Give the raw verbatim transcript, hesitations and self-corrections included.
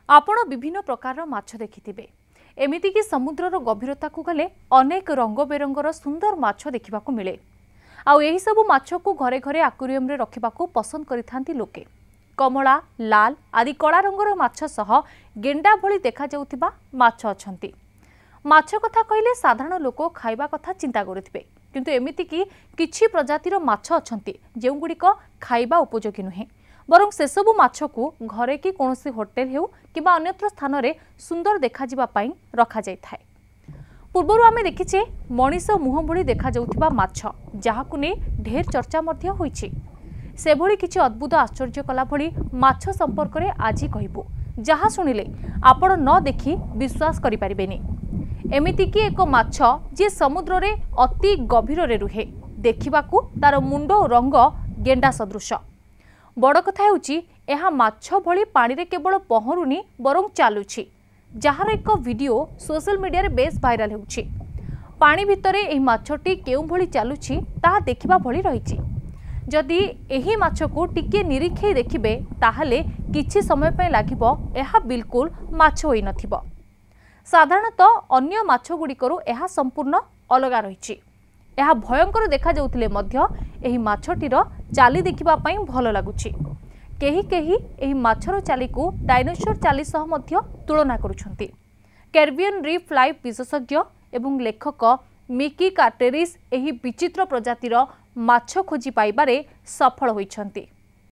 ଆପଣ ବିଭିନ୍ନ ପ୍ରକାରର ମାଛ ଦେଖିଥିବେ। ଏମିତିକି ସମୁଦ୍ରର ଗଭୀରତାକୁ ଗଲେ ଅନେକ ରଙ୍ଗ ବେରଙ୍ଗର ସୁନ୍ଦର ମାଛ ଦେଖିବାକୁ ମିଳେ। ଆଉ ଏହିସବୁ ମାଛକୁ ଘରେ ଘରେ ଆକ୍ୱାରିୟମରେ ରଖିବାକୁ ପସନ୍ଦ କରିଥାନ୍ତି ଲୋକେ। କମଳା, ଲାଲ ଆଦି କଳା ରଙ୍ଗର ମାଛ ସହ ଗେଣ୍ଡା ଭଳି ଦେଖାଯାଉଥିବା ମାଛ ଅଛନ୍ତି। ମାଛ କଥା କହିଲେ ସାଧାରଣ ଲୋକ ଖାଇବା କଥା ଚିନ୍ତା କରୁଥିବେ, କିନ୍ତୁ ଏମିତିକି କିଛି ପ୍ରଜାତିର ମାଛ ଅଛନ୍ତି ଯେଉଁଗୁଡ଼ିକ ଖାଇବା ଉପଯୋଗୀ ନୁହେଁ, ବରଂ ସେସବୁ ମାଛକୁ ଘରେ କି କୌଣସି ହୋଟେଲ ହେଉ କିମ୍ବା ଅନ୍ୟତ୍ର ସ୍ଥାନରେ ସୁନ୍ଦର ଦେଖାଯିବା ପାଇଁ ରଖାଯାଇଥାଏ। ପୂର୍ବରୁ ଆମେ ଦେଖିଛେ ମଣିଷ ମୁହଁ ଭଳି ଦେଖାଯାଉଥିବା ମାଛ, ଯାହାକୁ ନେଇ ଢେର ଚର୍ଚ୍ଚା ମଧ୍ୟ ହୋଇଛି। ସେଭଳି କିଛି ଅଦ୍ଭୁତ ଆଶ୍ଚର୍ଯ୍ୟ କଲା ଭଳି ମାଛ ସମ୍ପର୍କରେ ଆଜି କହିବୁ, ଯାହା ଶୁଣିଲେ ଆପଣ ନ ଦେଖି ବିଶ୍ୱାସ କରିପାରିବେନି। ଏମିତିକି ଏକ ମାଛ ଯିଏ ସମୁଦ୍ରରେ ଅତି ଗଭୀରରେ ରୁହେ, ଦେଖିବାକୁ ତାର ମୁଣ୍ଡ ଓ ରଙ୍ଗ ଗେଣ୍ଡା ସଦୃଶ। ବଡ଼ କଥା ହେଉଛି ଏହା ମାଛ ଭଳି ପାଣିରେ କେବଳ ପହଁରୁନି ବରଂ ଚାଲୁଛି, ଯାହାର ଏକ ଭିଡିଓ ସୋସିଆଲ ମିଡିଆରେ ବେଶ୍ ଭାଇରାଲ ହେଉଛି। ପାଣି ଭିତରେ ଏହି ମାଛଟି କେଉଁଭଳି ଚାଲୁଛି ତାହା ଦେଖିବା ଭଳି ରହିଛି। ଯଦି ଏହି ମାଛକୁ ଟିକିଏ ନିରୀକ୍ଷେଇ ଦେଖିବେ, ତାହେଲେ କିଛି ସମୟ ପାଇଁ ଲାଗିବ ଏହା ବିଲକୁଲ ମାଛ ହୋଇନଥିବ। ସାଧାରଣତଃ ଅନ୍ୟ ମାଛଗୁଡ଼ିକରୁ ଏହା ସମ୍ପୂର୍ଣ୍ଣ ଅଲଗା ରହିଛି। ଏହା ଭୟଙ୍କର ଦେଖାଯାଉଥିଲେ ମଧ୍ୟ ଏହି ମାଛଟିର ଚାଲି ଦେଖିବା ପାଇଁ ଭଲ ଲାଗୁଛି। କେହି କେହି ଏହି ମାଛର ଚାଲିକୁ ଡାଇନୋସର ଚାଲି ସହ ମଧ୍ୟ ତୁଳନା କରୁଛନ୍ତି। କ୍ୟାରିବିଆନ୍ ରିଫ୍ ଲାଇଫ୍ ବିଶେଷଜ୍ଞ ଏବଂ ଲେଖକ ମିକି କାର୍ଟେରିସ୍ ଏହି ବିଚିତ୍ର ପ୍ରଜାତିର ମାଛ ଖୋଜି ପାଇବାରେ ସଫଳ ହୋଇଛନ୍ତି।